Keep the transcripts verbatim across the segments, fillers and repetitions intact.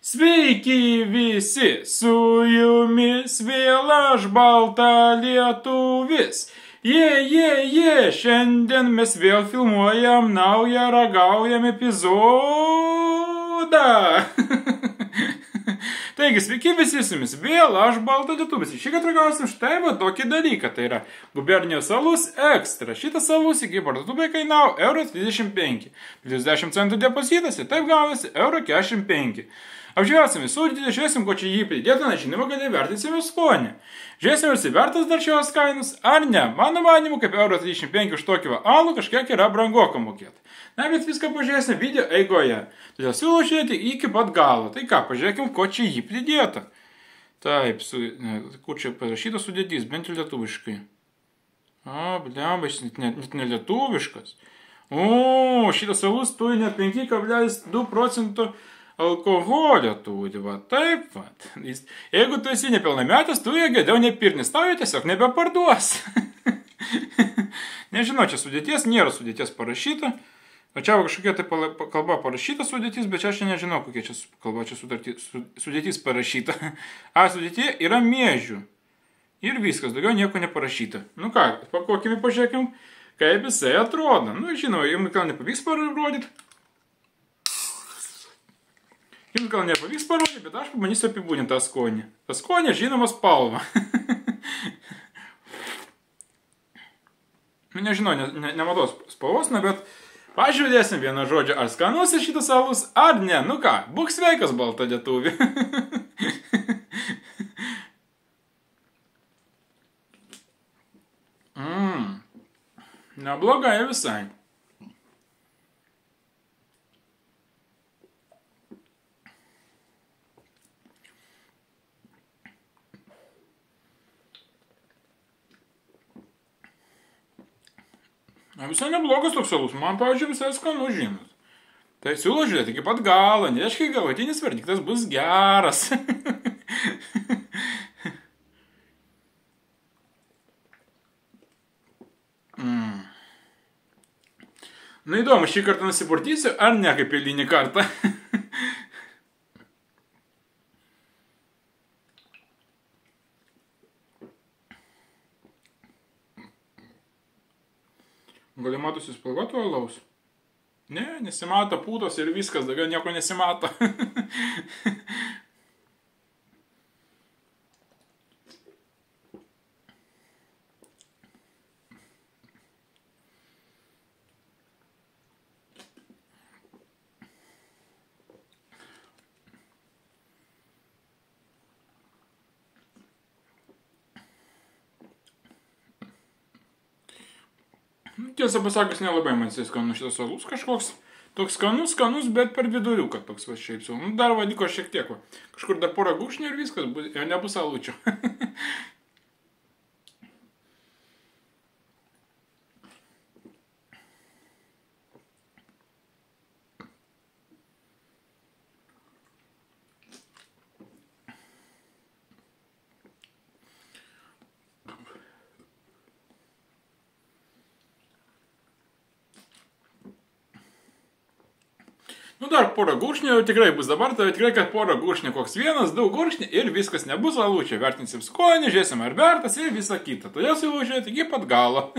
Sveiki visi, su jumis vėl aš balta lietuvis. Jie, jie, jie, šiandien mes vėl filmuojam naują ragaujam epizodą. Taigi, sveiki visi su jumis vėl aš balta lietuvis. Šį kartą ragausim štai va tokį dalyką. Tai yra gubernijos alus ekstra. Šitas alus iki parduotuvėje kainavo euras dvidešimt penki. trisdešimt centų depositas ir taip gaunasi euras keturiasdešimt penki. Apžiūrėsim visų, žiūrėsim, ko čia jį pridėtų, nežinoma, kad įvertinsime skonį. Žiūrėsim, ar įvertas dar šios kainos, ar ne. Mano manimu, kaip euras trisdešimt penki už tokį alų kažkiek yra brangoka mokėti. Na, bet viską pažiūrėsim video eigoje. Todėl siūlau žiūrėti iki pat galo. Tai ką, pažiūrėkim, ko čia jį pridėtų. Taip, su, ne, kur čia parašytas sudėtys, bent jau lietuviškai. O, blemba, šis net, net ne lietuviškas. O, šitas alus turi net penki kablelis du procentų alkoholio turi, va, taip, va. Jeigu tu esi nepilnametis, tu jo geriau nepirnis, tau jo tiesiog nebeparduos. Nežinau, čia sudėties, nėra sudėties parašyta. O čia kažkokia tai kalba parašyta sudėtis, bet čia aš nežinau, kokia čia kalba čia sudėtis parašyta. A, sudėtie yra miežių. Ir viskas, daugiau nieko neparašyta. Nu ką, pakokime, pažiūrėkim, kaip jisai atrodo. Nu, žinau, jums gal nepavyks parodyti. Jums gal nepavyks parodyti, bet aš pabandysiu apibūdinti tą skonį. Ta skonė, žinoma, spalva. Nu, nežinau, ne, ne, nematos spalvos, na, bet pažiūrėsim vieną žodžią, ar skanus šitas alus, ar ne. Nu ką, būk sveikas, balta lietuvi. mm. Neblogai visai. Na, visai neblogas toks alus, man, pavyzdžiui, visai skanu žinot. Tai siūlau žiūrėti iki pat galo, nereiškia, galutinis verdiktas bus geras. mm. Nu, įdomu, šį kartą nusipurtysiu, ar ne kaip eilinį kartą. Gal matosi spalvoto alaus? Ne, nesimato pūtos ir viskas, daugiau nieko nesimato. Tiesą pasakius, nelabai man jisai skanus šitas alus kažkoks. Toks skanus, skanus, bet per viduriuką toks va šiaip sau. Nu, dar vadiko šiek tiek va. Kažkur dar porą gūšnių ir viskas, jau nebus alučio. Nu, dar porą gurkšnių jau tikrai bus dabar, tai tikrai, kad porą gurkšnių, koks vienas, du gurkšnių ir viskas nebus alučio. Vertinsim skonį, žiūrėsim ar vertas ir visą kitą. Todėl siūlau žiūrėti iki pat galo.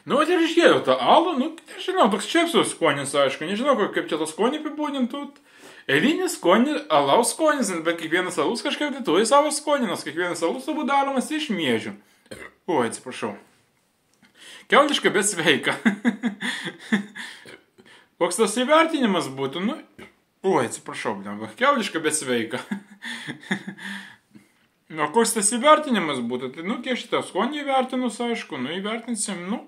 Nu, ir išgėriau tą alų, nu, nežinau, toks čepsus skonis, aišku, nežinau, kaip čia tą skonį apibūdintų. Eilinis skonį, alaus skonis, bet kiekvienas alus kažkaip tai turi savo skonį, nes kiekvienas alus turbūt daromas iš miežių. O, atsiprašau. Kiauliška, bet sveika. Koks tas įvertinimas būtų, nu, o, atsiprašau, blemba. Kiauliška, bet sveika. Nu, koks tas įvertinimas būtų, tai, nu, kiek šitą skonį įvertinus, aišku, nu, įvertinsim, nu,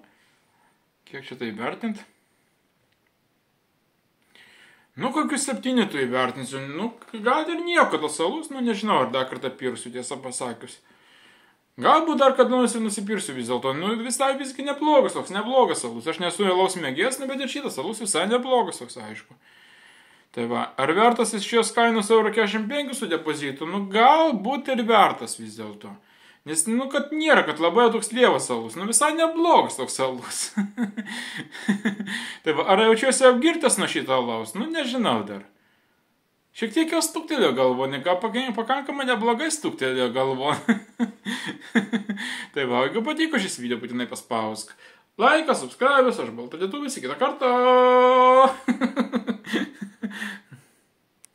kiek šitą įvertint? Nu, kokius septyni tu įvertinsiu, nu, gal ir nieko tas alus, nu, nežinau, ar dar kartą pirsiu, tiesą pasakius. Galbūt dar kada nors ir nusipirsiu vis dėlto, nu, visai visgi neblogas, toks neblogas alus. Aš nesu alaus mėgėjas, bet ir šitas alus visai neblogas, toks aišku. Tai va, ar vertas iš šios kainos euro keturiasdešimt penki su depozitu? Nu, galbūt ir vertas vis dėlto. Nes, nu, kad nėra, kad labai toks lievas alus. Nu, visai neblogas toks alus. Tai va, ar jaučiuosi apgirtas nuo šito alaus? Nu, nežinau dar. Šiek tiek jau stuktelėjo galvon, ką pakankamai neblogai stuktelėjo galvon. Tai va, jeigu patiko šis video, būtinai paspausk. Laikas, subscribės, aš Balta Lietuvis, iki kitą kartą.